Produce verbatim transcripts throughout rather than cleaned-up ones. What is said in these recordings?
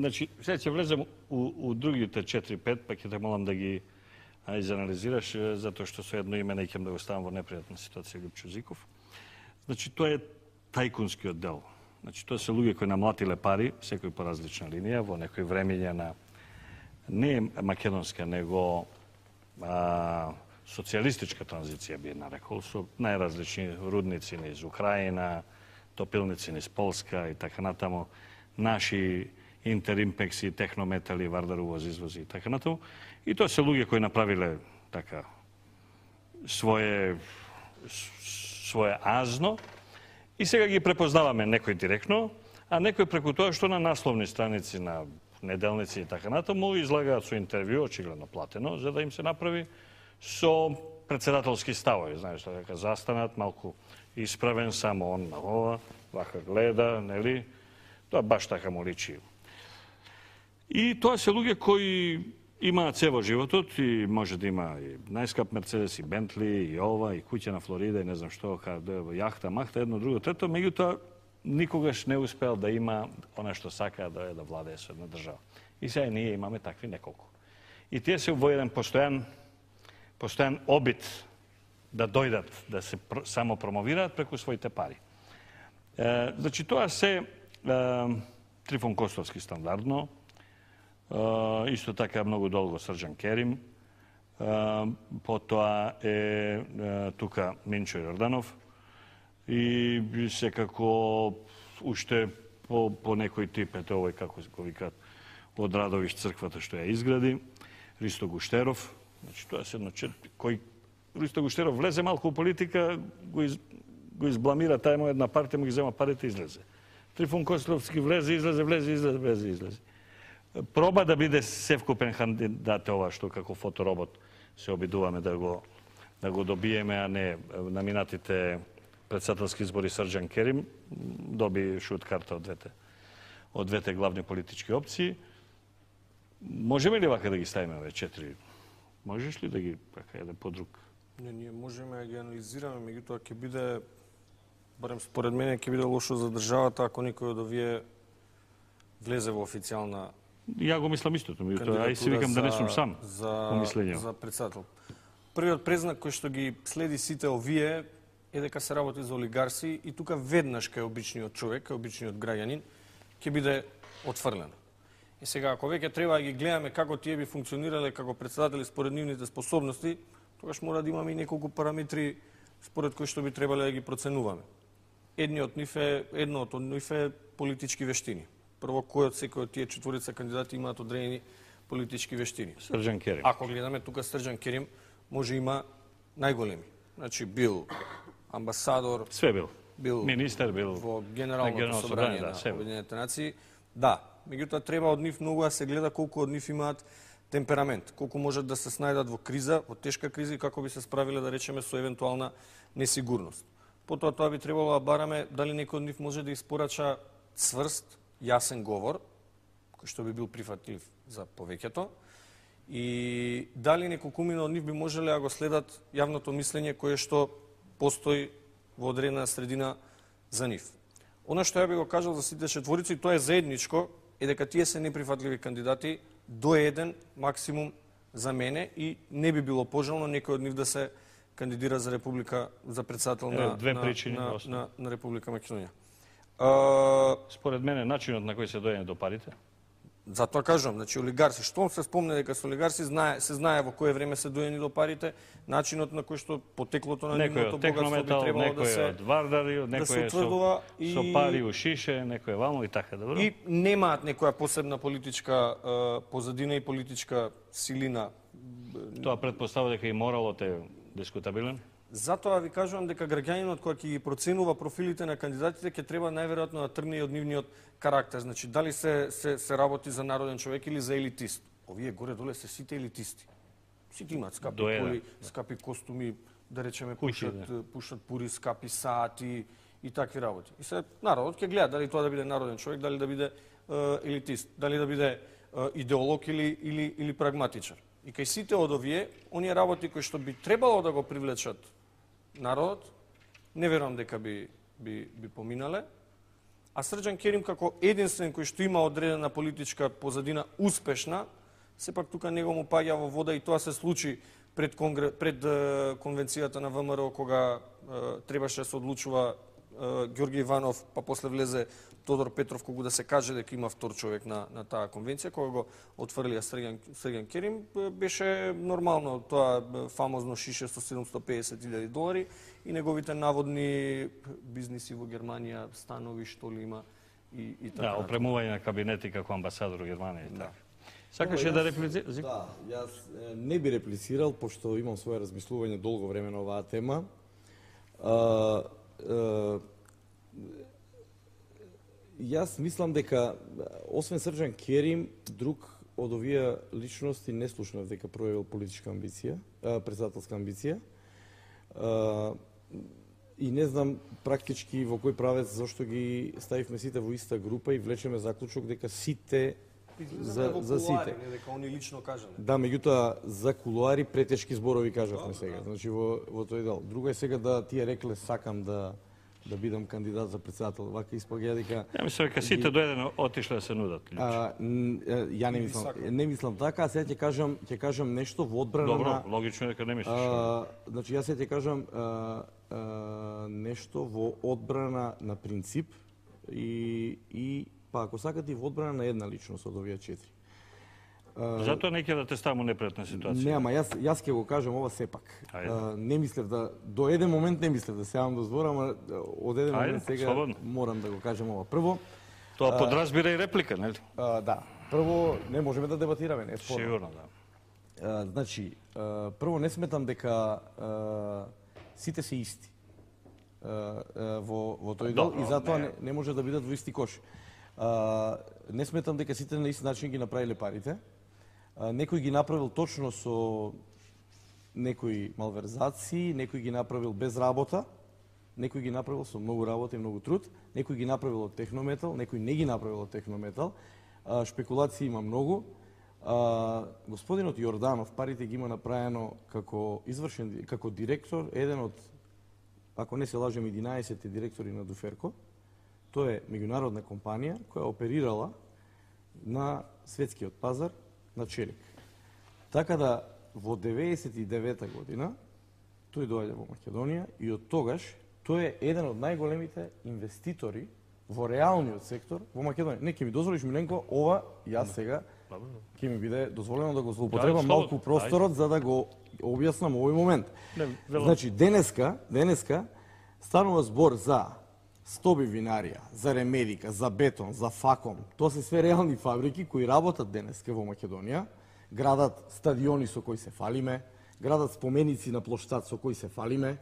Значи, сега ќе влезем у, у другите четири-пет, па ќе те молам да ги а, изанализираш, затоа што со едно име не ќе да го ставам во непријатна ситуација Лјупчо Зиков. Значи, тоа е тајкунскиот дел. Значи, тоа се луѓе кои намлатиле пари, секој по различна линија, во некој времење на не македонска, него а, социјалистичка транзиција би нарекол, со најразлични рудници низ Украина, топилници низ Полска и така натаму, наши Интеримпекси, Технометали, Вардар увоз, извози и така натаму. И тоа се луѓе кои направиле така свое свое азно и сега ги препознаваме некој директно, а некој преку тоа што на насловни страници на неделници и така натаму излагаат со интервју, очигледно платено, за да им се направи со председателски ставови, знаеш, дека застанат малку исправен, само он на ова, вака гледа, нели? Тоа баш така му личи. И тоа се луѓе кои имаат се во животот и може да има и најскап Мерцедес, и Бентли, и ова, и куќа на Флорида, и не знам што, јахта, махта, едно, друго, трето, меѓутоа никогаш не успеал да има она што сака да е да владее со една држава. И сега ние имаме такви неколку. И тие се во еден постојан постојан обид да дојдат, да се само промовираат преку своите пари. Е, значи тоа се е, Трифон Костовски стандардно, Uh, исто така многу долго Срđan Керим, uh, потоа е uh, тука Минчо Јорданов и секако уште по, по некој тип, ето овој како го викаат од Радовиш црквата што ја изгради, Ристо Гуштеров, значи тоа се едно четири, кој Ристо Гуштеров влезе малку у политика, го, из, го избламира тај му една партија, му ги зема парите и излезе. Трифон Костовски влезе, излезе, влезе, излезе, влезе, излезе. Проба да биде севкупен кандидат ова што како фоторобот се обидуваме да го да го добиеме, а не на минатите председателски избори Срđan Керим доби шут карта од двете од двете главни политички опции. Можеме ли вака да ги ставиме овие четири? Можеш ли да ги така еден по друг? Не, ние можеме да ги анализираме, меѓутоа ќе биде, барем според мене, ќе биде лошо за државата ако некој од овие влезе во официјална Ја го мислам истото, меѓутоа ај си викам да не сум сам за, по мислење. За председател. Првиот признак кој што ги следи сите овие е дека се работи за олигарси и тука веднаш кај обичниот човек, кај обичниот граѓанин ќе биде отфрлен. И сега ако веќе треба да ги гледаме како тие би функционирале како председатели според нивните способности, тогаш мора да имаме и неколку параметри според кои што би требале да ги проценуваме. Едниот нив е едно од нив е политички вештини. Прво, кој од секој од тие четворица кандидати имаат одредени политички вештини. Срđan Керим. Ако гледаме тука Срđan Керим, може има најголеми. Значи бил амбасадор, све бил. Бил министер, бил во Генералното собрание на да, Обединените нации. Да, меѓутоа треба од нив многу да се гледа колку од нив имаат темперамент, колку можат да се снајдат во криза, во тешка криза и како би се справиле да речеме со евентуална несигурност. Потоа тоа би требало да бараме дали некој од нив може да испорача цврст, јасен говор, кој што би бил прифатлив за повеќето, и дали неколкумина од нив би можеле да го следат јавното мислење кое што постои во одредена средина за нив. Она што ја би го кажал за сите четворици, тоа е заедничко, е дека тие се неприфатливи кандидати до еден максимум за мене и не би било пожелно некој од нив да се кандидира за република, за председател на, Две на, причини, на, на, на, на Република Македонија. Uh, Според мене, начинот на кој се дојде до парите? Затоа кажувам, значи олигарси, што се спомне дека со олигарси знае, се знае во кое време се дојдени до парите, начинот на кој што потеклото на нивното богатство би требало да се од Вардари, некој е со, и... со пари у шише, некој е вамо и така, добро? И немаат некоја посебна политичка uh, позадина и политичка силина. Тоа предпоставува дека и моралот е дискутабилен? Затоа ви кажувам дека граѓанинот кој ќе ги проценува профилите на кандидатите ќе треба најверојатно да тргне и од нивниот карактер. Значи дали се, се се работи за народен човек или за елитист. Овие горе-доле се сите елитисти. Сите имаат скапи коли, скапи костуми, да речеме пушат, пушат пури, скапи сати и такви работи. И се народот ќе гледа дали тоа да биде народен човек, дали да биде е, елитист, дали да биде е, идеолог или или или прагматичар. И кај сите од овие, оние работи кои што би требало да го привлечат народот, не верувам дека би, би, би поминале. А Срđan Керим како единствен кој што има одредена политичка позадина успешна, сепак тука него му паѓа во вода и тоа се случи пред, конгре... пред е, конвенцијата на ВМРО кога е, требаше да се одлучува е, Ѓорги Иванов, па после влезе Тодор Петров, кога да се каже дека има втор човек на, на таа конвенција, кога го отфрлија Срđan, Срđan Керим, беше нормално тоа фамозно шише со седумстотини и педесет илјади долари и неговите наводни бизниси во Германија, станови што ли има и, и така. Да, опремување на кабинети како амбасадор во Германија. Да. Сакаше да реплицира? Да, јас не би реплицирал, пошто имам своје размислување долго време на оваа тема. А, а, јас мислам дека, освен Срđan Керим, друг од овие личности не слушнав дека проявил политичка амбиција, председателска амбиција. А, и не знам практички во кој правец зашто ги ставивме сите во иста група и влечеме заклучок дека сите за, за сите. Не дека они лично кажале. Да, меѓутоа за кулуари претешки зборови кажавме сега. Значи во во тој дел. Друго е сега да тие рекле сакам да да бидам кандидат за председател. Вака испаѓа дека Ја мислам дека сите до еден отишле да се нудат. А, ја не мислам, не мислам така, а сега ќе кажам, ќе кажам нешто во одбрана Добро, на логично дека не мислиш. А, значи јас сега ќе кажам а, а, нешто во одбрана на принцип и и па ако сакате и во одбрана на една личност од овие четири. Затоа не ќе да те ставам у непријатна ситуација. Не, ама јас јас ќе го кажам ова сепак. А, не мислев да до еден момент не мислев да се јавам до збор, ама од еден Ајде, момент сега слободно. морам да го кажам ова. Прво, Тоа подразбира и реплика, нели? а, да, прво не можеме да дебатираме, не е спорно. Сигурно, да. А, значи, а, прво не сметам дека а, сите се исти а, а, во во тој дел Добро, и затоа не. не, не може да бидат во исти кош. А, не сметам дека сите на ист начин ги направиле парите. А, некој ги направил точно со некои малверзации, некој ги направил без работа, некој ги направил со многу работа и многу труд, некој ги направил од технометал, некој не ги направил од технометал. А, шпекулации има многу. А, господинот Јорданов парите ги има направено како извршен како директор, еден од, ако не се лажем, единаесет директори на Дуферко. Тоа е меѓународна компанија која оперирала на светскиот пазар на челик. Така да во деветдесет и девета година тој доаѓа во Македонија и од тогаш тој е еден од најголемите инвеститори во реалниот сектор во Македонија. Не, ќе ми дозволиш, Миленко, ова јас сега ќе ми биде дозволено да го злоупотребам малку просторот за да го објаснам овој момент. Не, вело. Значи, денеска, денеска станува збор за Стоби винарија, за ремедика, за бетон, за факом. Тоа се све реални фабрики кои работат денеска во Македонија, градат стадиони со кои се фалиме, градат споменици на плоштад со кои се фалиме,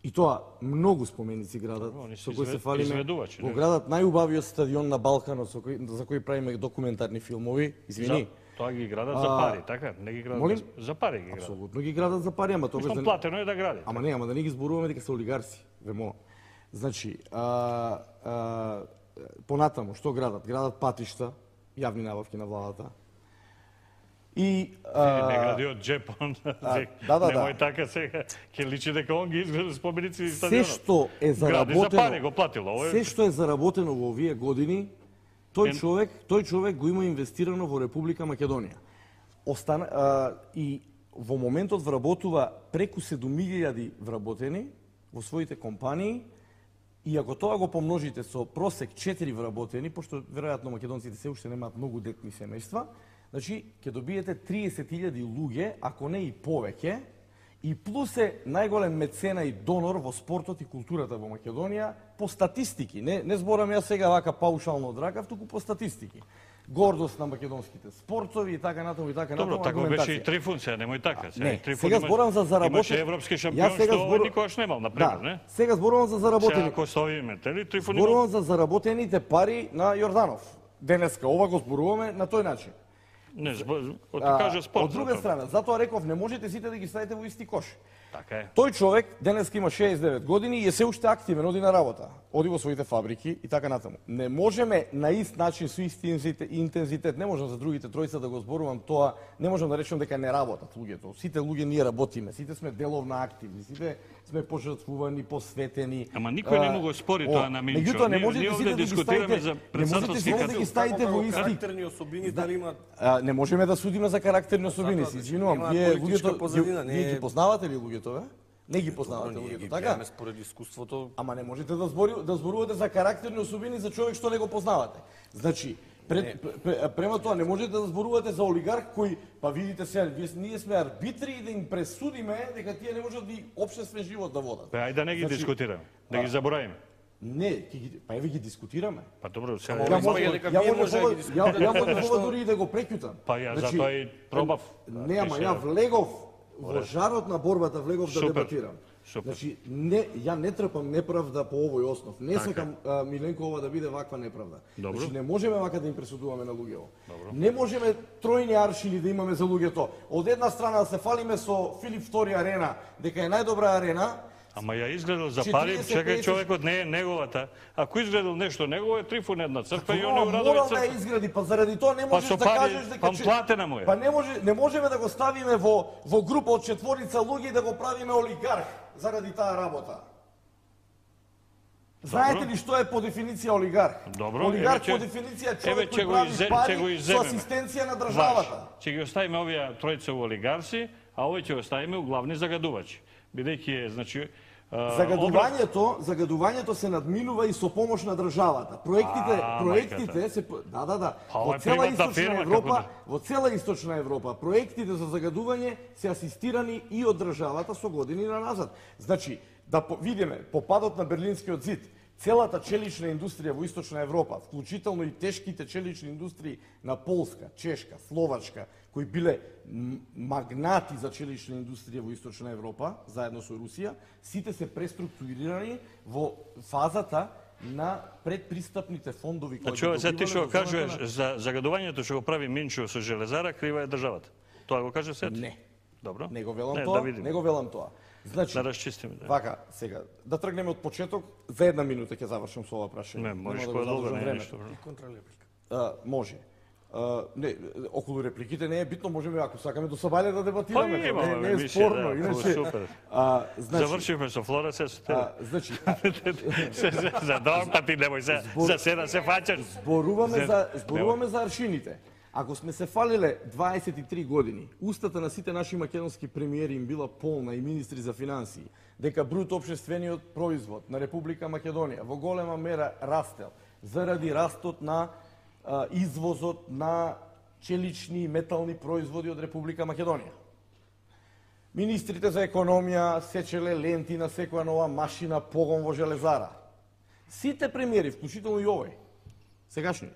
и тоа многу споменици градат Они со се кои се извед- фалиме. изведувачи, Го не? градат најубавиот стадион на Балканот со кој, за кој правиме документарни филмови. Извини. За, тоа ги градат за А, пари, така? Не ги градат молим? без- за пари ги градат. Апсолутно ги градат за пари, ама тогаш Што платено е да гради. Ама не, ама да не ги зборуваме дека се олигарси, вемо. Значи, а, а, понатаму, што градат? Градат патишта, јавни набавки на владата. И а, Не гради од джепон. да, да, Немој да. така сега. Ќе личи дека он ги изгледа споменици и се стадионот. што е Гради за пари, заработено, го платило. Ово е- се што е заработено во овие години, тој Ен- човек, тој човек го има инвестирано во Република Македонија. Остана а, и во моментот вработува преку седум илјади вработени во своите компании. И ако тоа го помножите со просек четири вработени, пошто веројатно македонците се уште немаат многу детни семејства, значи ќе добиете триесет илјади луѓе, ако не и повеќе, и плюс е најголем мецена и донор во спортот и културата во Македонија по статистики. Не, не зборам јас сега вака паушално од ракав, туку по статистики. Гордост на македонските спортови и така натаму и така натаму. Добро, така беше аргументација. и Трифун, сега немој така. Сега, Не, Трифун сега има- зборам за заработени. Имаше европски шампион, Јас сега што збору- никогаш немал, например, Да, не? сега зборувам за Сега заработени. ако ставиме, тели, Трифун има... Зборувам за заработените пари на Јорданов. Денеска ова го зборуваме на тој начин. Не, збор, од А, кажа спорт. од друга затоа. страна, затоа реков не можете сите да ги ставите во исти кош. Така е. Тој човек денеска има шеесет и девет години и е се уште активен, оди на работа, оди во своите фабрики и така натаму. Не можеме на ист начин со ист интензитет, не можам за другите тројца да го зборувам тоа, не можам да речем дека не работат луѓето. Сите луѓе ние работиме, сите сме деловно активни, сите сме пожртвувани, посветени. Ама никој не му го спори тоа на Минчо. Меѓутоа не Ние- можете ние сите овде да ги дискутираме ставите, за не можете председателски сите да кандидат. ги ставите во исти. Карактерни особини дали имаат А, не можеме да судиме за карактерни особини, Затоа, се значи, извинувам. нема Вие политичка луѓето, позадина, ги- не вие е- ги познавате ли луѓето, бе? Не ги познавате ние ги луѓето, така? гледаме според искуството. Ама не можете да збори, да зборувате за карактерни особини за човек што не го познавате. Значи, пред, пр, према тоа не можете да зборувате за олигарх кој, па видите сега, вие, ние сме арбитри и да им пресудиме дека тие не можат да и општествен живот да водат. Па ајде да не ги Значи, дискутираме, да ги заборавиме. Не, ќе ги, па еве ги дискутираме. Па добро, сега Ама Ја Ја може, може дека ја вие може, може да ова- ги ја, дискутирате, ја може зашто- ова дури и да го преќутам. Па ја Значи, затоа и пробав. Не, ама ја влегов во жарот на борбата, влегов да Супер. дебатирам. Супер. Значи, не, ја не трпам неправда по овој основ. Не сакам а, Миленко ова да биде ваква неправда. Добро. Значи, не можеме вака да им пресудуваме на луѓето. Не можеме тројни аршини да имаме за луѓето. Од една страна да се фалиме со Филип втори арена, дека е најдобра арена, Ама ја изгледал за четириесет, пари, чекај песет човекот не е неговата. Ако изгледал нешто негово е Трифун една црква и он е Тоа урадува морал да ја црква. изгради, па заради тоа не Па можеш со да пари, кажеш дека па че- платена му е. Па не може не можеме да го ставиме во во група од четворица луѓе и да го правиме олигарх заради таа работа. Знаете ли што е по дефиниција олигарх? Добро, олигарх еве ќе- по дефиниција е еве човек ќе кој го прави иззе- ќе пари го со изземеме. асистенција на Ваш. државата. Ќе ги оставиме овие тројца у олигарси, а овој ќе го оставиме у главни загадувачи. Бидејќи е, значи, а, образ- Загадувањето, загадувањето се надминува и со помош на државата. Проектите, А, проектите се да, да, да. Па, ова Во е цела приватна источна фирма, Европа, како да. во цела источна Европа, проектите за загадување се асистирани и од државата со години на назад. Значи, да по, видиме по падот на Берлинскиот зид, целата челична индустрија во источна Европа, вклучително и тешките челични индустрии на Полска, Чешка, Словачка, кои биле м- магнати за челична индустрија во источна Европа, заедно со Русија, сите се преструктурирани во фазата на предпристапните фондови кои Значи, ова сега ти што го кажуваш за загадувањето што го прави Минчо со железара, крива е државата. Тоа го каже сет? Не. Добро. Не го велам не, тоа, да видиме. не го велам тоа. Значи, Да расчистиме. Да. вака, сега, да тргнеме од почеток, за една минута ќе завршам со ова прашање. Не, можеш Нема да го подолго, задржам не е времето. ништо. Контралеприка. А, може. А, не, околу репликите не е битно, можеме ако сакаме до Сабајле да дебатираме, Па, тоа не, имаме не е емисија, спорно, да, иначе. супер. А, значи, Завршивме со Флора, се со тебе. а, значи, а, Се- се- За друг пат ти немој за, за седа се фаќаш. зборуваме Зе- за зборуваме за аршините. Ако сме се фалиле дваесет и три години, устата на сите наши македонски премиери им била полна и министри за финансии, дека бруто општествениот производ на Република Македонија во голема мера растел заради растот на а, извозот на челични и метални производи од Република Македонија. Министрите за економија сечеле ленти на секоја нова машина, погон во железара. Сите премиери, вклучително и овој, сегашниот,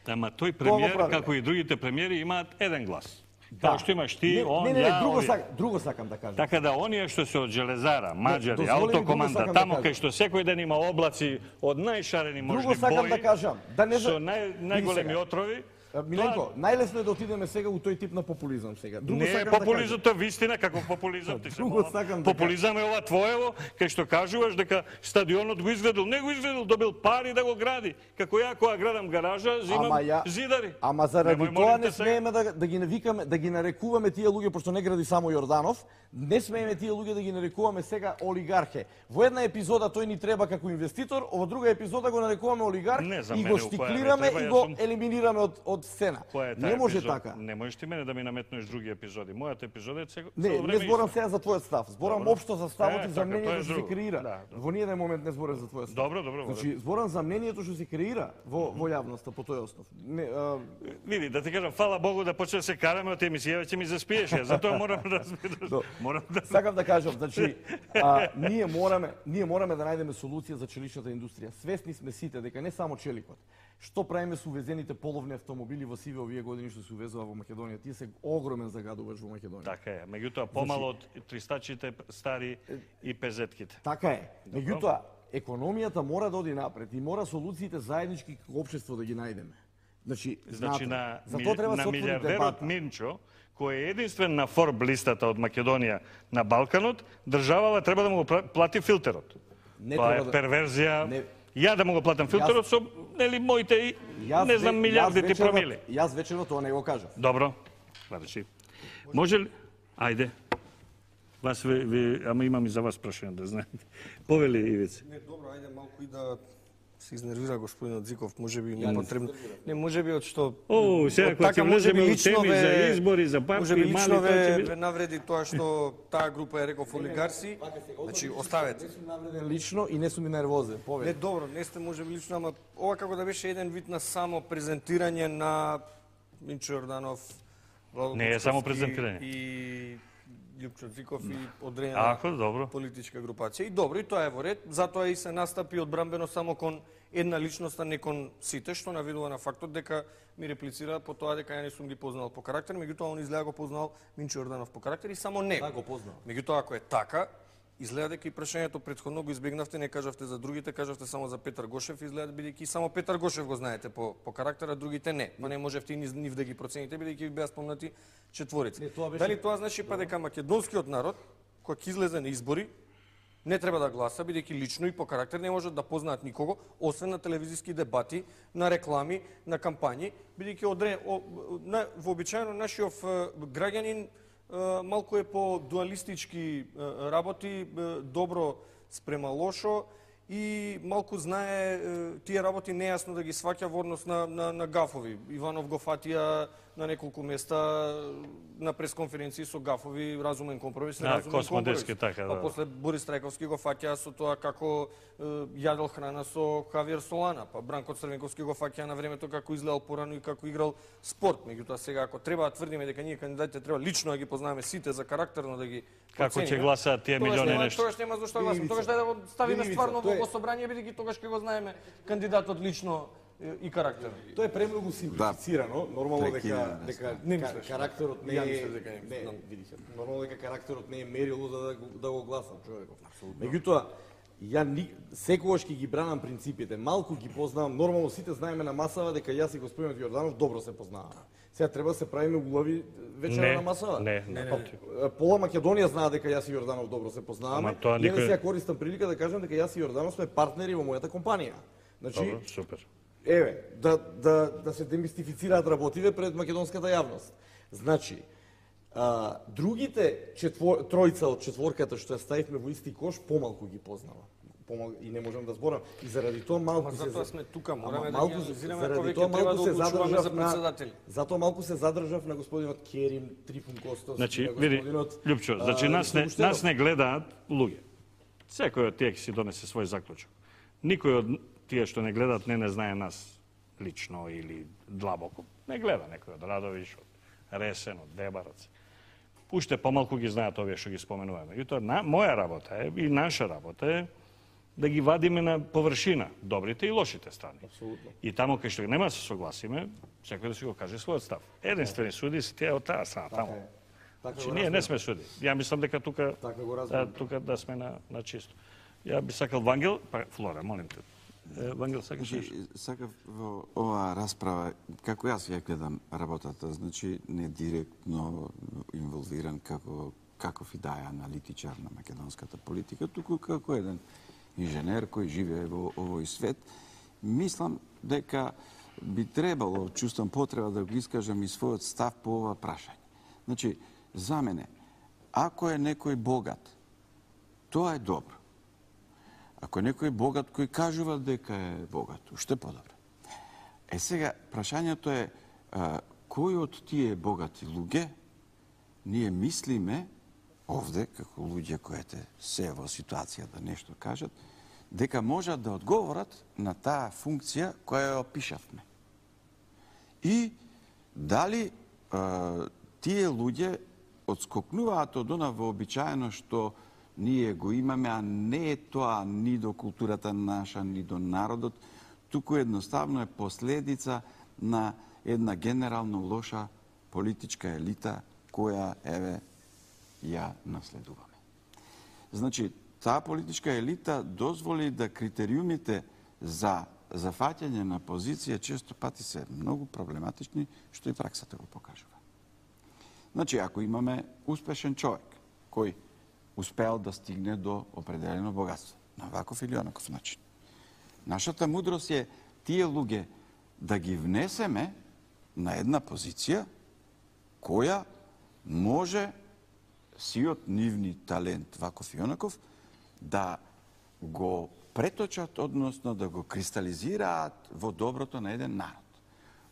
Ама тој Тоа го премиер, правиме. како и другите премиери, имаат еден глас. Да. Како што имаш ти, не, он, не, не, не, ја, друго, овие. сак, друго сакам да кажам. Така да оние што се од железара, маđари, дозволи ми, друго автокоманда, сакам да тамо кажам. кај што секој ден има облаци од најшарени Друго можни сакам бои, да кажам, да не за- со нај, Види најголеми сега. отрови, А, Миленко, најлесно е да отидеме сега у тој тип на популизам сега. Друго не е сакам популизам, да тоа вистина како популизам. Ти се Друго мала. сакам да Популизам е ова твоево, кај што кажуваш дека стадионот го изградил, не го изградил, добил пари да го гради. Како ја кога градам гаража, зимам Ама ја- зидари. Ама заради Немој, тоа молим не те, сега. смееме да, да ги навикаме, да ги нарекуваме тие луѓе, пошто не гради само Јорданов, не смееме тие луѓе да ги нарекуваме сега олигархе. Во една епизода тој ни треба како инвеститор, во друга епизода го нарекуваме олигарх Не, за и мене го у која не штиклираме треба, и јас го сум- елиминираме од, од сцена. Која е таа Не може епизода? така. Не можеш ти мене да ми наметнеш други епизоди. Мојата епизода е цело Не, време не зборам иста. сега за твојот став. Зборам Добро. општо за ставот Е, и за така, мнението тоа е што се друго. креира. Да, добро. Во ниеден момент не зборам за твојот став. Добро, добро. Значи, зборам за мнението што се креира во, во јавноста по тој основ. Не, а, Види, да ти кажам, фала Богу да почне да се караме од емисија, ќе ми заспиеш. Ја, затоа морам да разбираш. До. Морам да сакам да кажам, значи, а, ние мораме, ние мораме да најдеме солуција за челичната индустрија. Свесни сме сите дека не само челикот. Што правиме со увезените половни автомобили во сиве овие години што се увезува во Македонија? Тие се огромен загадувач во Македонија. Така е. Меѓутоа помало од тристачите стари и пезетките. Така е. Меѓутоа, економијата мора да оди напред и мора солуциите заеднички како општество да ги најдеме. Значи, Значи знате, на, за ми- тоа треба на се отвори милиардерот дебата. Минчо, кој е единствен на Форб листата од Македонија на Балканот, државава треба да му го пла- плати филтерот. Не Тоа треба е да- перверзија. Не. Ја да му го платам филтерот со, нели, моите, и- Јас не знам, ве- милиардите јас вечерва- промили. Јас вечерва тоа не го кажав. Добро. Значи, може ли... Ајде. Вас ви, ви, ама имам и за вас прашање, да знаете. Повели, Ивице. Не, добро, ајде малку и да се изнервира господинот Зиков, можеби не потребно. Не, можеби од што О, сега од кога така, ќе можеби влеземе у лично теми ве- за избори, за партии, можеби мали, лично тоа ќе ве, биде. ве навреди тоа што таа група е реков олигарси. Значи, оставете. Не сум навреден лично и не сум и нервозен. Не, Повели. добро, не сте можеби лично, ама ова како да беше еден вид на само презентирање на Минчо Јорданов, Владо Не е само Бучковски презентирање. и Љупчо Зиков и одредена Ако, добро. политичка групација. И добро, и тоа е во ред, затоа и се настапи одбрамбено само кон една личност, а не кон сите, што наведува на фактот дека ми реплицира по тоа дека ја не сум ги познал по карактер, меѓутоа он изгледа го познал Минчо Јорданов по карактер и само него. Да, го познал. Меѓутоа, ако е така, изгледа дека и прашањето претходно го избегнавте, не кажавте за другите, кажавте само за Петар Гошев, изгледа бидејќи само Петар Гошев го знаете по, по карактера, другите не. Па не можевте и нив да ги процените, бидејќи ви беа спомнати четворици. Не, тоа беше- Дали тоа значи па дека македонскиот народ, кој ќе излезе на избори, не треба да гласа, бидејќи лично и по карактер не можат да познаат никого, освен на телевизиски дебати, на реклами, на кампањи, бидејќи одре, о, на, вообичаено нашиот е, граѓанин е, малку е по дуалистички е, работи, е, добро спрема лошо и малку знае е, тие работи нејасно да ги сваќа во однос на, на, на гафови. Иванов го фатија на неколку места на пресконференции со гафови, разумен компромис, Да, неразумен Космодевски, компромис. така, Па да. после Борис Трајковски го фаќа со тоа како е, јадел храна со Хавиер Солана, па Бранко Црвенковски го фаќа на времето како изгледал порано и како играл спорт. Меѓутоа сега ако треба да тврдиме дека ние кандидатите треба лично да ги познаваме сите за карактерно да ги Како ќе процениме, гласаат тие тогаш милиони нема- нешто? Тогаш нема зашто да гласаме. Тогаш да го ставиме Ивица, стварно тоа е- во собрание, бидејќи тогаш ќе го знаеме кандидатот лично е, и карактер. Тоа е премногу симплифицирано, нормално дека Прекинуваме, дека Не ка- мислиш. карактерот не Ја е мислев дека не не, знам. види се. Нормално дека карактерот не е мерило за да го, да го гласам човеков. Меѓутоа, ја ни, секогаш ќе ги бранам принципите. Малку ги познавам, нормално сите знаеме на масава дека јас и господинот Јорданов добро се познаваме. Сега треба да се правиме улови вечера Не, на масава. не, не, не. Па, Пола Македонија знае дека јас и Јорданов добро се познаваме. Ама тоа И еве никој- сега користам прилика да кажам дека јас и Јорданов сме партнери во мојата компанија. Значи, Добро, супер. еве, да, да, да се демистифицираат работиве пред македонската јавност. Значи, а, другите четвор, тројца од четворката што ја ставивме во исти кош, помалку ги познава. Помал, и не можам да зборам. И заради тоа малку Ма се... затоа сме тука, мораме Ама да малку ги се- анализираме заради ако тоа веќе треба малку да се одлучуваме задржав за на- председатели. Затоа малку се задржав на господинот Керим, Трифун Костов, Значи, на види, господинот... Љупчо, значи а, нас не, Сабуштенов. нас не гледаат луѓе. Секој од тие ќе си донесе свој заклучок. Никој од тие што не гледаат не не знае нас лично или длабоко. Не гледа некој од Радовиш, од Ресен, од Дебарац. Уште помалку ги знаат овие што ги споменуваме. И тоа на, моја работа е и наша работа е да ги вадиме на површина добрите и лошите страни. Апсолутно. И таму кај што нема да се согласиме, секој да си го каже својот став. Единствени суди се тие од таа страна таму. Така е. Така Значи, го ние не разбирам. сме суди. Ја мислам дека тука Така го да, разбирам. тука да сме на, на чисто. Ја би сакал Вангел, па Флора, молим те. Е, Вангел, сакаш нешто? Значи, сакав во оваа расправа, како јас ја гледам работата, значи не директно инволвиран како каков и да е аналитичар на македонската политика, туку како еден инженер кој живее во овој свет, мислам дека би требало, чувствам потреба да го искажам и својот став по ова прашање. Значи, за мене, ако е некој богат, тоа е добро. Ако е некој богат кој кажува дека е богат, уште подобро. Е сега, прашањето е, а, кој од тие богати луѓе ние мислиме овде, како луѓе кои се во ситуација да нешто кажат, дека можат да одговорат на таа функција која ја опишавме. И дали а, тие луѓе одскокнуваат од она вообичаено што ние го имаме, а не е тоа ни до културата наша, ни до народот, туку едноставно е последица на една генерално лоша политичка елита која, еве, ја наследуваме. Значи, таа политичка елита дозволи да критериумите за зафаќање на позиција често пати се многу проблематични, што и праксата го покажува. Значи, ако имаме успешен човек кој успеал да стигне до определено богатство, на ваков или онаков начин, нашата мудрост е тие луѓе да ги внесеме на една позиција која може сиот нивни талент, ваков и онаков, да го преточат, односно да го кристализираат во доброто на еден народ.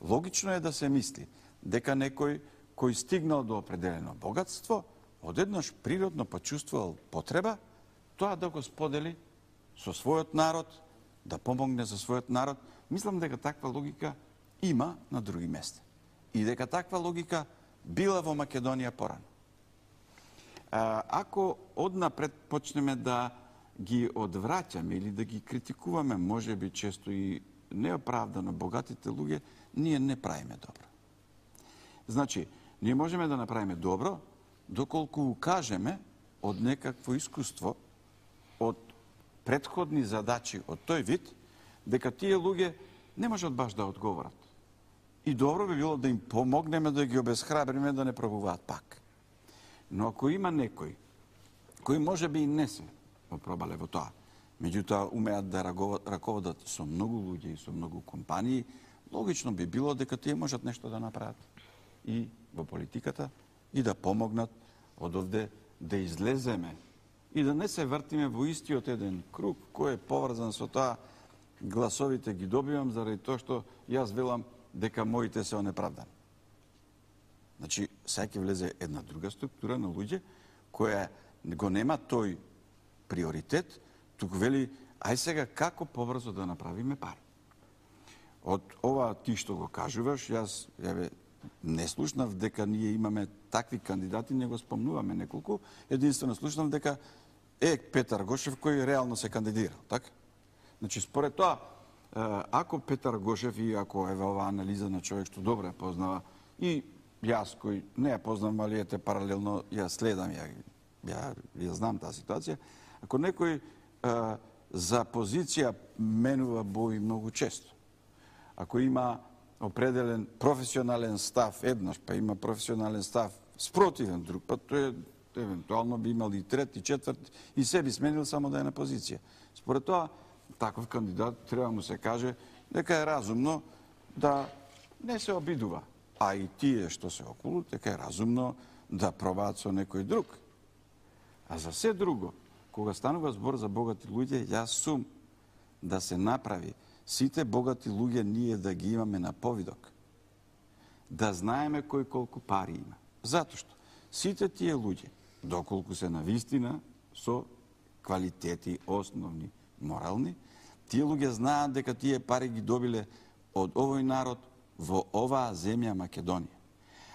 Логично е да се мисли дека некој кој стигнал до определено богатство, одеднаш природно почувствувал потреба тоа да го сподели со својот народ, да помогне за својот народ. Мислам дека таква логика има на други места. И дека таква логика била во Македонија порано. Ако однапред почнеме да ги одвраќаме или да ги критикуваме, може би често и неоправдано богатите луѓе, ние не правиме добро. Значи, ние можеме да направиме добро доколку укажеме од некакво искуство, од претходни задачи од тој вид, дека тие луѓе не можат баш да одговорат. И добро би било да им помогнеме, да ги обесхрабриме да не пробуваат пак. Но ако има некој кој може би и не се опробале во тоа, меѓутоа умеат да раководат со многу луѓе и со многу компании, логично би било дека тие можат нешто да направат и во политиката и да помогнат од овде да излеземе и да не се вртиме во истиот еден круг кој е поврзан со тоа гласовите ги добивам заради тоа што јас велам дека моите се онеправдани. Значи, сега ќе влезе една друга структура на луѓе која го нема тој приоритет, туку вели, ај сега како побрзо да направиме пари. Од ова ти што го кажуваш, јас јаве, не слушнав дека ние имаме такви кандидати, не го спомнуваме неколку, единствено слушнав дека е Петар Гошев кој реално се кандидирал, така? Значи, според тоа, ако Петар Гошев и ако е оваа анализа на човек што добро ја познава, и јас кој не ја познавам, али ете паралелно ја следам, ја, ја, ја знам таа ситуација, ако некој а, за позиција менува бои многу често, ако има определен професионален став еднаш, па има професионален став спротивен друг, па тој евентуално би имал и трет, и четврт, и се би сменил само да е на позиција. Според тоа, таков кандидат треба му се каже дека е разумно да не се обидува, а и тие што се околу, дека е разумно да пробаат со некој друг. А за се друго, кога станува збор за богати луѓе, јас сум да се направи сите богати луѓе ние да ги имаме на повидок. Да знаеме кој колку пари има. Затоа што сите тие луѓе, доколку се навистина со квалитети основни, морални, тие луѓе знаат дека тие пари ги добиле од овој народ во оваа земја Македонија.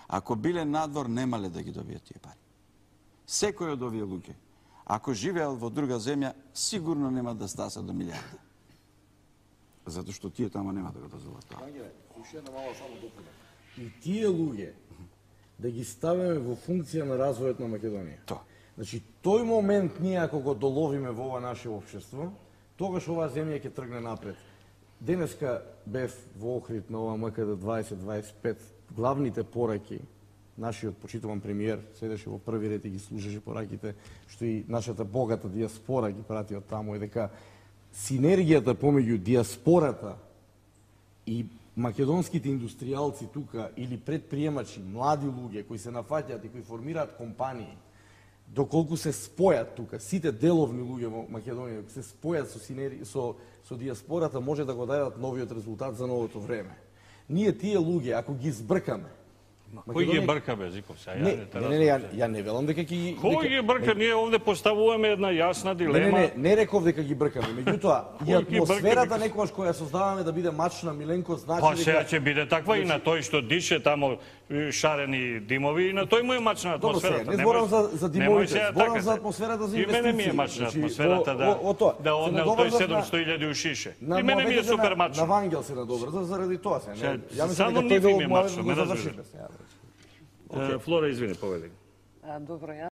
Ако биле надвор, немале да ги добијат тие пари. Секој од овие луѓе, ако живеел во друга земја, сигурно нема да стаса до милиарда. Затоа што тие тамо нема да го дозволат тоа. И тие луѓе да ги ставиме во функција на развојот на Македонија. Тоа. Значи, тој момент ние ако го доловиме во ова наше општество, тогаш оваа земја ќе тргне напред. Денеска бев во Охрид на ова М К Д дваесет дваесет и пет, главните пораки, нашиот почитуван премиер седеше во први ред и ги слушаше пораките, што и нашата богата диаспора ги прати од таму, и дека синергијата помеѓу диаспората и македонските индустријалци тука или предприемачи, млади луѓе кои се нафаќаат и кои формираат компании, доколку се спојат тука, сите деловни луѓе во Македонија, се спојат со, синери, со, со диаспората, може да го дадат новиот резултат за новото време. Ние тие луѓе, ако ги збркаме, Кој ги брка, бе, Зиков? Сега, не, ја не, не, не, ја, ја не велам дека ги... Кој ги брка? Ние овде поставуваме една јасна дилема. Не, не, не, не реков дека ги бркаме. Меѓутоа, и атмосферата некогаш која создаваме да биде мачна, Миленко, значи дека... Па сега ќе биде таква и на тој што дише тамо шарени димови, и на тој му е мачна атмосферата. Добро, не зборам за, за димовите, зборам за атмосферата за инвестиции. И мене ми е мачна атмосферата да, да однел тој седумстотини илјади у шише. И мене ми е супер мачна. На Вангел се надобрза заради тоа се. Ја мислам дека тој дел му е мачна, ме разбираш. Флора, извини, поведи. Добро, ја